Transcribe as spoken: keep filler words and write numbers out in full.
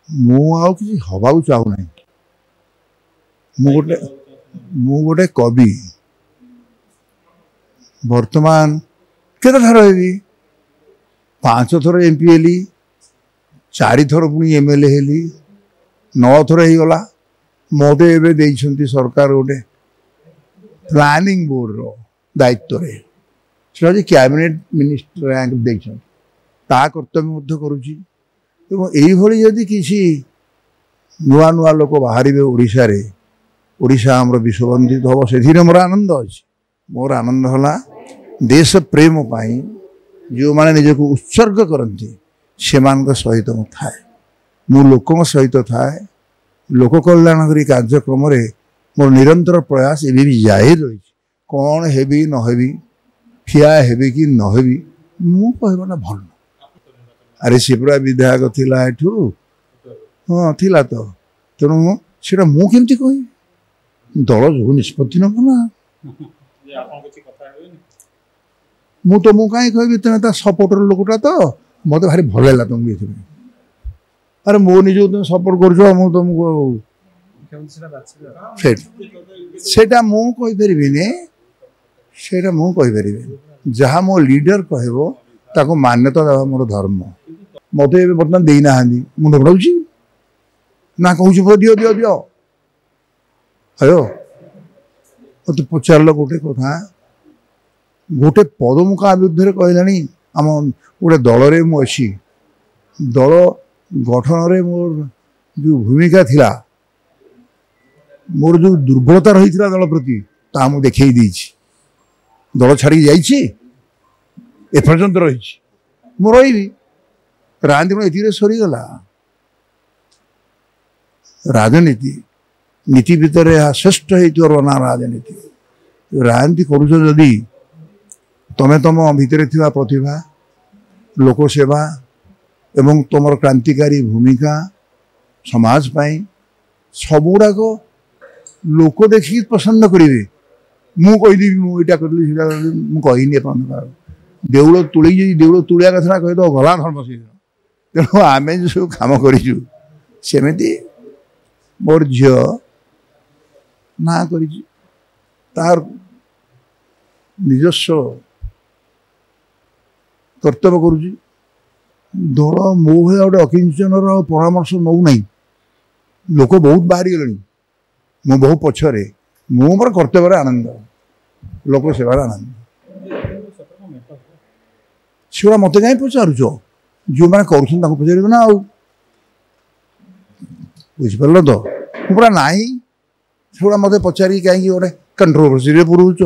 ମୁଁ ଆଉ କିଛି ହବାକୁ ଚାହୁଁନାହିଁ। ମୁଁ ଗୋଟେ ମୁଁ ଗୋଟେ କବି। ବର୍ତ୍ତମାନ କେତେ ଥର ହେବି? ପାଞ୍ଚ ଥର ଏମ୍ ପି ହେଲି, ଚାରିଥର ପୁଣି ଏମ୍ ଏଲ୍ ଏ ହେଲି, ନଅ ଥର ହେଇଗଲା। ମୋତେ ଏବେ ଦେଇଛନ୍ତି ସରକାର ଗୋଟେ ପ୍ଲାନିଂ ବୋର୍ଡ଼ର ଦାୟିତ୍ୱରେ, ସେଟା ହେଉଛି କ୍ୟାବିନେଟ୍ ମିନିଷ୍ଟର ରାଙ୍କ ଦେଇଛନ୍ତି, ତା କର୍ତ୍ତବ୍ୟ ମଧ୍ୟ କରୁଛି। ଏବଂ ଏଇଭଳି ଯଦି କିଛି ନୂଆ ନୂଆ ଲୋକ ବାହାରିବେ ଓଡ଼ିଶାରେ, ଓଡ଼ିଶା ଆମର ବିଶ୍ୱବନ୍ଦିତ ହେବ, ସେଥିରେ ମୋର ଆନନ୍ଦ ଅଛି। ମୋର ଆନନ୍ଦ ହେଲା ଦେଶ ପ୍ରେମ ପାଇଁ ଯେଉଁମାନେ ନିଜକୁ ଉତ୍ସର୍ଗ କରନ୍ତି ସେମାନଙ୍କ ସହିତ ମୁଁ ଥାଏ, ମୁଁ ଲୋକଙ୍କ ସହିତ ଥାଏ। ଲୋକ କଲ୍ୟାଣ କରି କାର୍ଯ୍ୟକ୍ରମରେ ମୋର ନିରନ୍ତର ପ୍ରୟାସ ଏବେ ବି ଜାରି ରହିଛି। କ'ଣ ହେବି ନ ହେବି, ଠିଆ ହେବି କି ନ ହେବି, ମୁଁ କହିବାଟା ଭଲ। ଆରେ ସେ ପୁରା ବିଧାୟକ ଥିଲା ଏଠୁ, ହଁ ଥିଲା ତ, ତେଣୁ ସେଇଟା ମୁଁ କେମିତି କହିବି? ଦଳ ଯୋଉ ନିଷ୍ପତ୍ତି ନେବ ନା, ମୁଁ ତ ମୁଁ କାହିଁ କହିବି? ତୁମେ ତା ସପୋର୍ଟର ଲୋକଟା ତ, ମୋତେ ଭାରି ଭଲ ହେଲା ତୁମକୁ ଏଥିପାଇଁ। ଆରେ ମୋ ନିଜକୁ ତୁମେ ସପୋର୍ଟ କରୁଛ, ମୁଁ ତୁମକୁ ସେଇଟା ସେଇଟା ମୁଁ କହିପାରିବିନି, ସେଇଟା ମୁଁ କହିପାରିବିନି। ଯାହା ମୋ ଲିଡର କହିବ ତାକୁ ମାନ୍ୟତା ଦେବା ମୋର ଧର୍ମ। ମୋତେ ଏବେ ବର୍ତ୍ତମାନ ଦେଇନାହାନ୍ତି, ମୁଣ୍ଡ ଫୁଟାଉଛି ନା କହୁଛି ଦିଅ ଦିଅ ଦିଅ। ହ୍ୟାଲୋ, ମୋତେ ପଚାରିଲ ଗୋଟେ କଥା, ଗୋଟେ ପଦ ମୁଁ କାହା ବିରୁଦ୍ଧରେ କହିଲାଣି? ଆମ ଗୋଟେ ଦଳରେ ମୁଁ ଅଛି, ଦଳ ଗଠନରେ ମୋର ଯେଉଁ ଭୂମିକା ଥିଲା, ମୋର ଯେଉଁ ଦୁର୍ବଳତା ରହିଥିଲା ଦଳ ପ୍ରତି, ତାହା ମୁଁ ଦେଖେଇ ଦେଇଛି। ଦଳ ଛାଡ଼ିକି ଯାଇଛି, ଏପର୍ଯ୍ୟନ୍ତ ରହିଛି, ମୁଁ ରହିବି। ରାଜନୀତି କଣ ଏତିକିରେ ସରିଗଲା? ରାଜନୀତି ନୀତି ଭିତରେ ଏହା ଶ୍ରେଷ୍ଠ ହେଇଥିବାର ନା ରାଜନୀତି। ରାଜନୀତି କରୁଛ ଯଦି ତମେ ତମ ଭିତରେ ଥିବା ପ୍ରତିଭା, ଲୋକସେବା ଏବଂ ତୁମର କ୍ରାନ୍ତିକାରୀ ଭୂମିକା ସମାଜ ପାଇଁ, ସବୁଗୁଡ଼ାକ ଲୋକ ଦେଖିକି ପସନ୍ଦ କରିବେ। ମୁଁ କହିଦେବି ମୁଁ ଏଇଟା କରିଲି ସେଇଟା କରିଲି, ମୁଁ କହିନି ଏପର୍ଯ୍ୟନ୍ତ। ଦେଉଳ ତୁଳେଇ ଯଦି ଦେଉଳ ତୁଳିଆ କଥାଟା କହିଦେବ, ଗଲା ଧର୍ମ ସେଇଦିନ। ତେଣୁ ଆମେ ଯେଉଁ ସବୁ କାମ କରିଛୁ, ସେମିତି ମୋର ଝିଅ ନାଁ କରିଛି, ତାର ନିଜସ୍ୱ କର୍ତ୍ତବ୍ୟ କରୁଛି। ଦଳ ମୋ ଭଳିଆ ଗୋଟେ ଅକିଞ୍ଚନର ପରାମର୍ଶ ନେଉନାହିଁ। ଲୋକ ବହୁତ ବାହାରିଗଲେଣି, ମୁଁ ବହୁ ପଛରେ। ମୁଁ ମୋର କର୍ତ୍ତବ୍ୟରେ ଆନନ୍ଦ, ଲୋକ ସେବାର ଆନନ୍ଦ। ସେଗୁଡ଼ା ମୋତେ କାହିଁ ପଚାରୁଛ? ଯେଉଁମାନେ କରୁଛନ୍ତି ତାଙ୍କୁ ପଚାରିବ ନା ଆଉ, ବୁଝିପାରିଲ ତ? ମୁଁ ପୁରା ନାହିଁ, ସେଗୁଡ଼ା ମୋତେ ପଚାରିକି କାହିଁକି ଗୋଟେ କଣ୍ଟ୍ରୋଭର୍ସିରେ ପୁରଉଛ?